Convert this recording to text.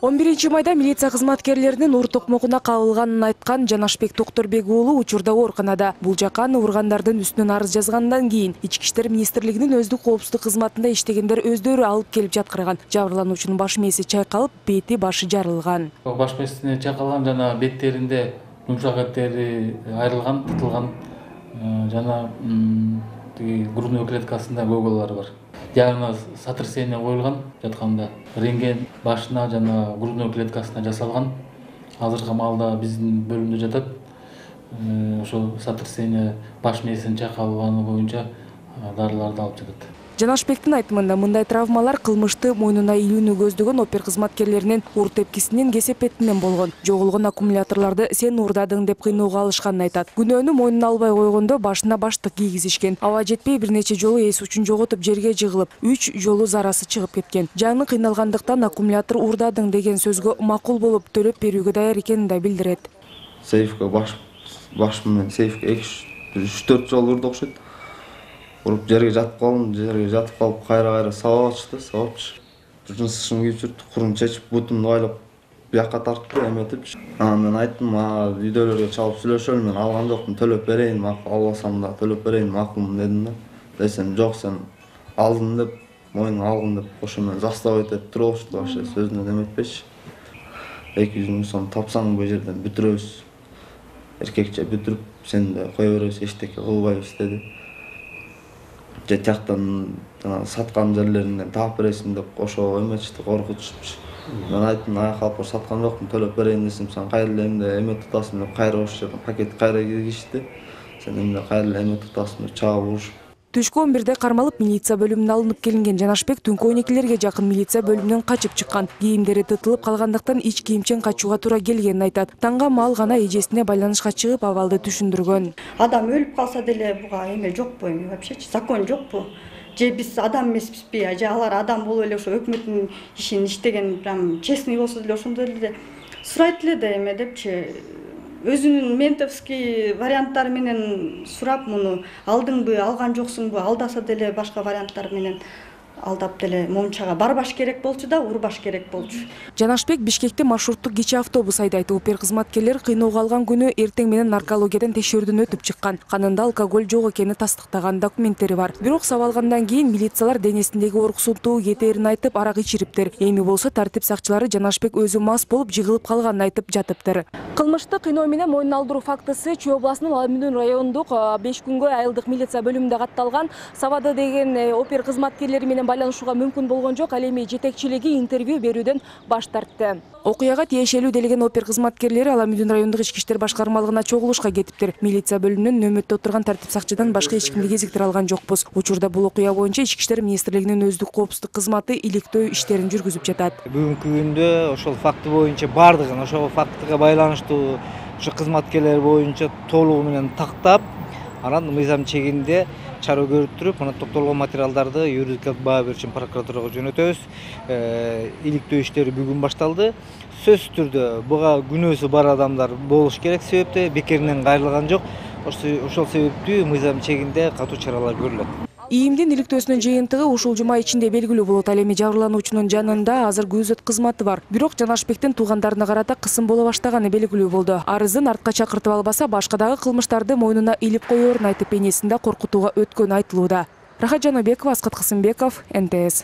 11 майда милиция кызматкерлеринин ур токмогуна кабылганын айткан Жанашбек Токторбек уулу учурда ооруканада. Бул жака аны ургандардын үстүнөн арыз жазгандан кийин Ички иштер министрлигинин өздүк коопсуздук кызматында иштегендер өздөрү алып келип жаткырган. Жабырлануучунун баш мээси чайкалып, бети башы жарылган. Баш мээсине чайкалган жана беттеринде жумшак эттери айрылган, тытылган жана грудной клеткасында көөгөлөр бар. Диагноз сотрясение коюлган жатканда. Рентген башына жана грудной клеткасына жасалган. Азыркы маалда биздин бөлүмдө жатат. Ошол сотрясение баш мээсинин чайкалганы боюнча дарыларды алып жатат. Жанашбектин айтымында мындай травмалар кылмышты мойнуна илүүнү көздөгөн опер кызматкерлеринин ур тепкисинин кесепетинен болгон. Жоголгон аккумуляторлорду сен уурдадың деп кыйноого алышканын айтат. Күнөөнү мойнуна албай койгондо башына баштык кийгизишкен. Аба жетпей бир нече жолу эс учун жоготуп жерге жыгылып, 3 жолу зарасы чыгып кеткен. Жаны кыйналгандыктан аккумулятор уурдадың деген сөзгө макул болуп төлөп берүүгө даяр экенин да билдирет. Сейфке баш менен сейфке 3-4 жолу урду окшойт. Уруп жерге жатып калып, кайра сабап атышты. Жынсышын кийип жүрдү, курун чечип, бутумду байлап, бияка тартты, эметип. Мен айттым, үйдөлөргө чалып сүйлөшөлү, мен алган жокмун, төлөп берейин, албасам да төлөп берейин, макулмун дедим да. Десем, жок, сен алдың деп, мойнуңа алгын деп, ошо менен заставить этип туруп алышты, вообще сөзүнөн эметпечи. 200 000 сом тапсаң бул жерден бүтүрөбүз. Эркекче бүтүрүп, сени да кое беребиз, эчтеке кылбайбыз деди. Же тияктан саткан жерлериңден таап бересиң деп ошо эметишти, коркутушпуш. Мен айттым, калпыр саткан жокмун, төлөп берейин десем, сен кайра эле эмне эме тутасың деп кайра ошол жерден пакет кайра киргизишти. Сен эмне кайра эле эме тутасың деп чаап урушуп. Түшкү 11-де кармалып милиция бөлүмүнө алынып келинген Жанашбек түнкү 12-лерге жакын милиция бөлүмүнөн качып чыккан. Кийимдери тытылып калгандыктан ич кийимчен качууга туура келгенин айтат. Таңга маал гана эжесине байланышка чыгып абалды түшүндүргөн. Адам өлүп калса деле буга эме жокпу эми вообще закон жокпу? Же биз адам эмеспизби? Же алар адам болуп эле ошо өкмөттүн ишин иштеген, прям честный болсо деле ошондой эле сурайт эле да эме депчи. Өзүнүн ментовский варианттары менен сурап, муну алдыңбы, алган жоксуңбу, алдаса деле башка варианттар менен алдап деле момчага барбаш керек болчу да, урбаш керек болчу. Жанашбек Бишкекте маршруттук кичи автобус айдайт. Опер кызматкерлер кыйноого алган күнү эртең менен наркологиядан текшерүүдөн өтүп чыккан. Канында алкоголь жок экени тастыктаган документтери бар. Бирок сабалгандан кийин милициялар денесиндеги уруксуздуу кетээрин айтып, арак ичириптир. Эми болсо тартип сакчылары Жанашбек өзү мас болуп жыгылып калганын айтып жатыптыр. Кылмышты кыйноо менен мойнуна алдыруу фактысы Чүй областынын Аламүндүн райондук 5 күнгө айылдык милиция бөлүмүндө катталган. Сабады деген опер кызматкерлери менен байланышууга мүмкүн болгон жок, ал эми жетекчилиги интервью берүүдөн баш тартты. Окуяга тиешелүү делеген опер кызматкерлери Аламүндүн райондук ички иштер башкармалыгына чогулушка кетиптир. Милиция бөлүмүнөн нөмөттө отурган тартип сакчыдан башка эч кимди кезиктире алган жокпуз. Учурда бул окуя боюнча Ички иштер министрлигинин өздүк коопсуздук кызматы иликтөө иштерин жүргүзүп жатат. Бүгүнкү күндө ошол факты боюнча бардыгын, ошол фактыга байланыштуу ошо кызматкерлер боюнча толугу менен тактап, анан мыйзам чегинде чара көрүп, мына топтолгон материалдарды юридикалык баа берүү үчүн прокуратурага жөнөтөбүз. Иликтөө иштери бүгүн башталды. Сөзсүз түрдө буга күнөөсү бар адамдар болуш керек, себепте бекеринен кайрылган жок. Ошол себептүү мыйзам чегинде катуу чаралар көрүлөт. ИИМдин иликтөөсүнүн жыйынтыгы ушул жума ичинде белгилүү болот. Ал эми жабырлануучунун жанында азыр күзөт кызматы бар. Бирок Жанашбектин туугандарына карата кысым боло баштаганы белгилүү болду. Арызын артка чакыртып албаса, башка дагы кылмыштарды мойнуна илип коерун айтып, энесин да коркутууга өткөнү айтылууда. Рахат Жанобекова, Аскат Касымбеков, НТС.